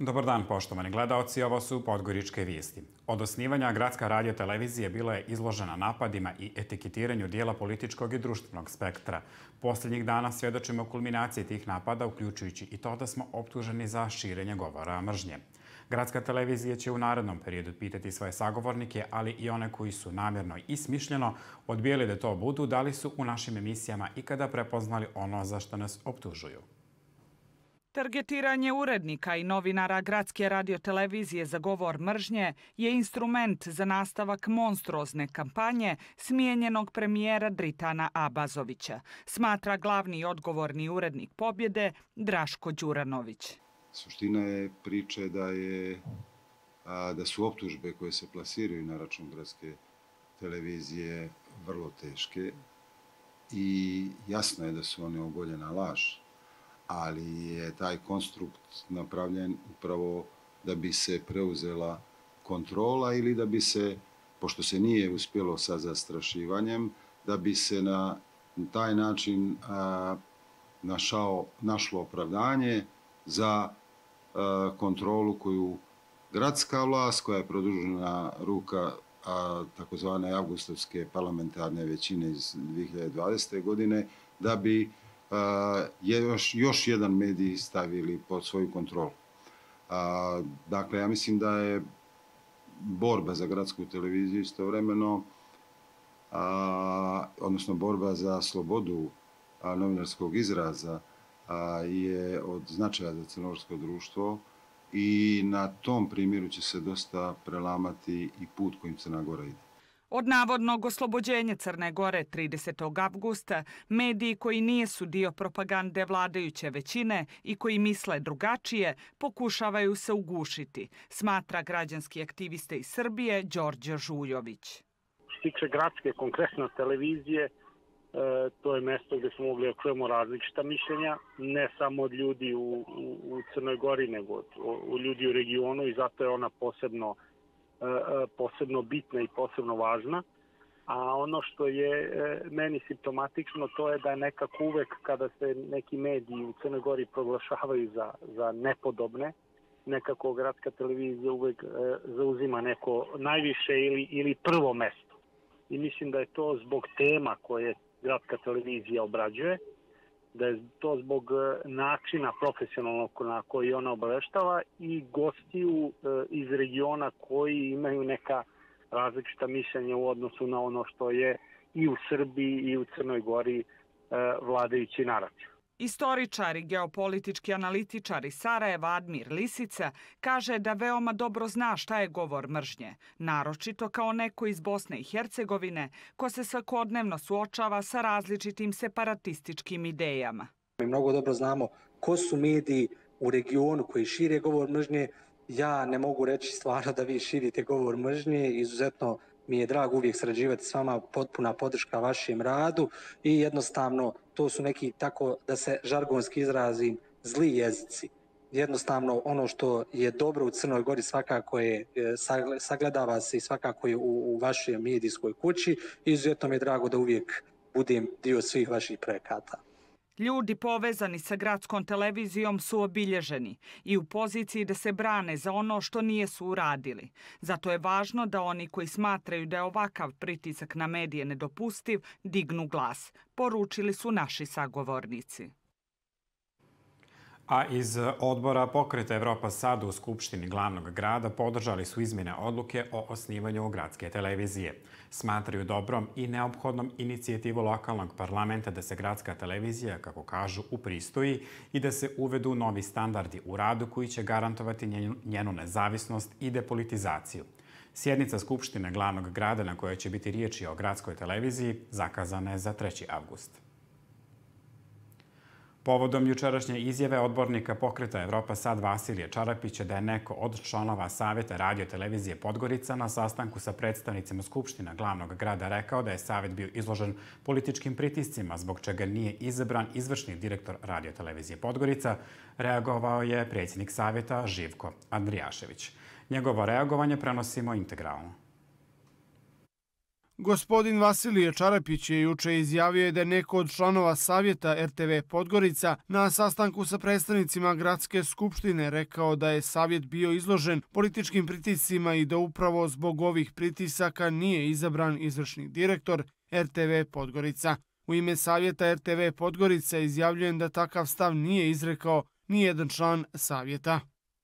Dobar dan, poštovani gledaoci, ovo su Podgoričke vijesti. Od osnivanja Gradska radiotelevizije bila je izložena napadima i etiketiranju dijela političkog i društvenog spektra. Posljednjih dana svjedočimo kulminaciji tih napada, uključujući i to da smo optuženi za širenje govora mržnje. Gradska televizija će u narednom periodu pitati svoje sagovornike, ali i one koji su namjerno i smišljeno odbijali da to budu, da li su u našim emisijama ikada prepoznali ono za što nas optužuju. Targetiranje urednika i novinara Gradske radiotelevizije za govor mržnje je instrument za nastavak monstruozne kampanje smijenjenog premijera Dritana Abazovića, smatra glavni i odgovorni urednik Pobjede Draško Đuranović. Suština je priče da su optužbe koje se plasiraju na račun Gradske televizije vrlo teške i jasno je da su one ogoljena laž. Ali je taj konstrukt napravljen upravo da bi se preuzela kontrola ili da bi se, pošto se nije uspjelo sa zastrašivanjem, da bi se na taj način našlo opravdanje za kontrolu koju gradska vlast, koja je produžena ruka takozvane avgustovske parlamentarne većine iz 2020. godine, da bi još jedan medij stavili pod svoju kontrolu. Dakle, ja mislim da je borba za Gradsku televiziju istovremeno, odnosno borba za slobodu novinarskog izraza je od značaja za crnogorsko društvo i na tom primjeru će se dosta prelamati i put kojim Crna Gora ide. Od navodnog oslobođenja Crne Gore 30. avgusta, mediji koji nisu dio propagande vladajuće većine i koji misle drugačije pokušavaju se ugušiti, smatra građanski aktivista iz Srbije Đorđe Žuljović. Što se tiče Gradske konkretno televizije, to je mjesto gdje smo mogli da čujemo različita mišljenja, ne samo od ljudi u Crnoj Gori, nego od ljudi u regionu i zato je ona posebno bitna i posebno važna. A ono što je meni simptomatično, to je da nekako uvek kada se neki mediji u Crnoj Gori proglašavaju za nepodobne, nekako Gradska televizija uvek zauzima neko najviše ili prvo mesto. I mislim da je to zbog tema koje Gradska televizija obrađuje, da je to zbog načina profesionalnog na koji ona obaveštava i gostiju iz regiona koji imaju neka različita mišljenja u odnosu na ono što je i u Srbiji i u Crnoj Gori vladajući narativ. Istoričar i geopolitički analitičar iz Sarajeva Admir Lisica kaže da veoma dobro zna šta je govor mržnje, naročito kao neko iz Bosne i Hercegovine ko se svakodnevno suočava sa različitim separatističkim idejama. Mi mnogo dobro znamo ko su mediji u regionu koji šire govor mržnje. Ja ne mogu reći stvarno da vi širite govor mržnje, izuzetno mi je drago uvijek sarađivati s vama, potpuna podrška vašem radu i jednostavno to su neki, tako da se žargonski izrazim, zli jezici. Jednostavno ono što je dobro u Crnoj Gori svakako je, sagledava se i svakako je u vašoj medijskoj kući i izuzetno mi je drago da uvijek budem dio svih vaših projekata. Ljudi povezani sa Gradskom televizijom su obilježeni i u poziciji da se brane za ono što nijesu uradili. Zato je važno da oni koji smatraju da je ovakav pritisak na medije nedopustiv, dignu glas, poručili su naši sagovornici. A iz odbora Pokreta Evropa Sad u Skupštini glavnog grada podržali su izmjene odluke o osnivanju Gradske televizije. Smatraju dobrom i neophodnom inicijativu lokalnog parlamenta da se Gradska televizija, kako kažu, upristoji i da se uvedu novi standardi u radu koji će garantovati njenu nezavisnost i depolitizaciju. Sjednica Skupštine glavnog grada na kojoj će biti riječi o Gradskoj televiziji zakazana je za 3. avgust. Povodom jučerašnje izjave odbornika Pokreta Evropa Sad Vasilije Čarapića da je neko od članova Savjeta radio-televizije Podgorica na sastanku sa predstavnicima Skupština glavnog grada rekao da je Savjet bio izložen političkim pritiscima, zbog čega nije izabran izvršni direktor radio-televizije Podgorica, reagovao je predsjednik Savjeta Živko Andrijašević. Njegovo reagovanje prenosimo integralno. Gospodin Vasilije Čarapić je juče izjavio da je neko od članova savjeta RTV Podgorica na sastanku sa predstavnicima Gradske skupštine rekao da je savjet bio izložen političkim pritiscima i da upravo zbog ovih pritisaka nije izabran izvršni direktor RTV Podgorica. U ime savjeta RTV Podgorica izjavljujem da takav stav nije izrekao ni jedan član savjeta.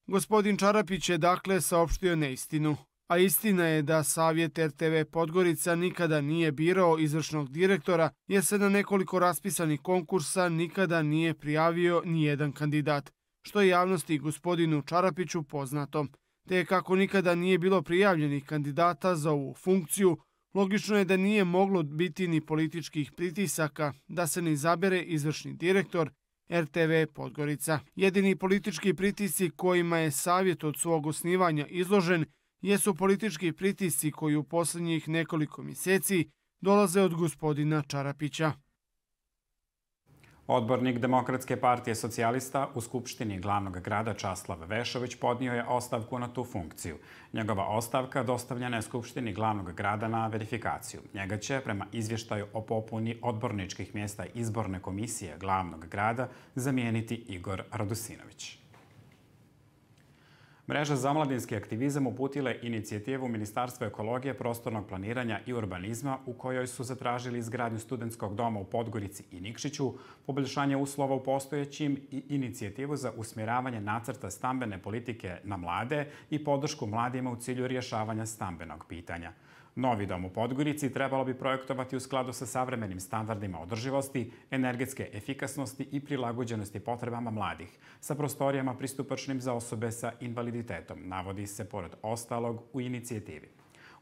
Gospodin Čarapić je dakle saopštio neistinu. A istina je da savjet RTV Podgorica nikada nije birao izvršnog direktora jer se na nekoliko raspisanih konkursa nikada nije prijavio ni jedan kandidat, što je javnosti gospodinu Čarapiću poznato. Te kako nikada nije bilo prijavljenih kandidata za ovu funkciju, logično je da nije moglo biti ni političkih pritisaka da se ne izabere izvršni direktor RTV Podgorica. Jedini politički pritisci kojima je savjet od svog osnivanja izložen jesu politički pritisci koji u posljednjih nekoliko mjeseci dolaze od gospodina Čarapića. Odbornik Demokratske partije socijalista u Skupštini glavnog grada Časlav Vešović podnio je ostavku na tu funkciju. Njegova ostavka dostavljena je Skupštini glavnog grada na verifikaciju. Njega će, prema izvještaju o popuni odborničkih mjesta izborne komisije glavnog grada, zamijeniti Igor Radusinović. Mreža za omladinski aktivizam uputila je inicijativu Ministarstva ekologije, prostornog planiranja i urbanizma u kojoj su zatražili izgradnju studentskog doma u Podgorici i Nikšiću, poboljšanje uslova u postojećim i inicijativu za usmjeravanje nacrta stambene politike na mlade i podršku mladima u cilju rješavanja stambenog pitanja. Novi dom u Podgorici trebalo bi projektovati u skladu sa savremenim standardima održivosti, energetske efikasnosti i prilagođenosti potrebama mladih, sa prostorijama pristupačnim za osobe sa invaliditetom, navodi se pored ostalog u inicijativi.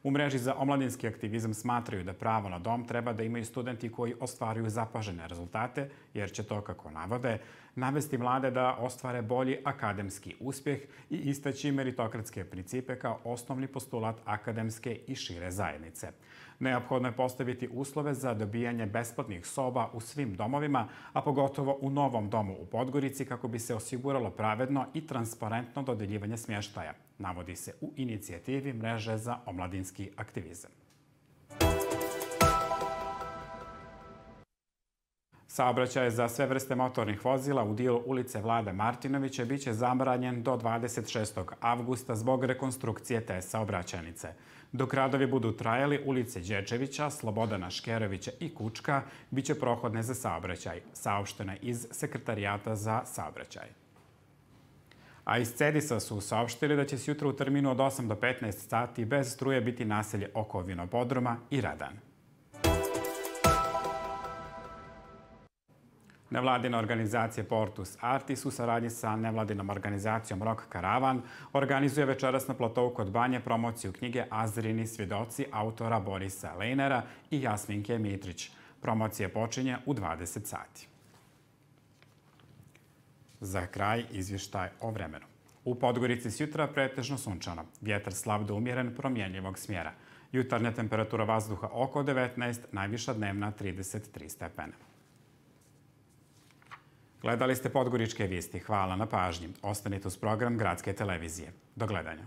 U mreži za omladinski aktivizam smatraju da pravo na dom treba da imaju studenti koji ostvaruju zapažene rezultate, jer će to, kako navode, navesti mlade da ostvare bolji akademski uspjeh i istaći meritokratske principe kao osnovni postulat akademske i šire zajednice. Neophodno je postaviti uslove za dobijanje besplatnih soba u svim domovima, a pogotovo u novom domu u Podgorici kako bi se osiguralo pravedno i transparentno dodeljivanje smještaja, navodi se u inicijativi Mreže za omladinski aktivizam. Saobraćaj za sve vrste motornih vozila u dijelu ulice Vlade Martinovića biće zabranjen do 26. avgusta zbog rekonstrukcije te saobraćajnice. Dok radovi budu trajali, ulice Đečevića, Slobodana Škerovića i Kučka biće prohodne za saobraćaj, saopšteno iz Sekretarijata za saobraćaj. A iz Cedisa su saopštili da će se jutro u terminu od 8 do 15 sati bez struje biti naselje oko Vinopodroma i Radan. Nevladina organizacija Portus Artis u saradnji sa nevladinom organizacijom Rock Karavan organizuje večeras na platovu kod Banje promociju knjige Azrini svjedoci autora Borisa Lejnera i Jasminke Mitrić. Promocija počinje u 20 sati. Za kraj izvještaj o vremenu. U Podgorici sjutra pretežno sunčano, vjetar slab do umjeren promjenjivog smjera. Jutarnja temperatura vazduha oko 19, najviša dnevna 33 stepena. Gledali ste Podgoričke vijesti. Hvala na pažnji. Ostanite uz program Gradske televizije. Do gledanja.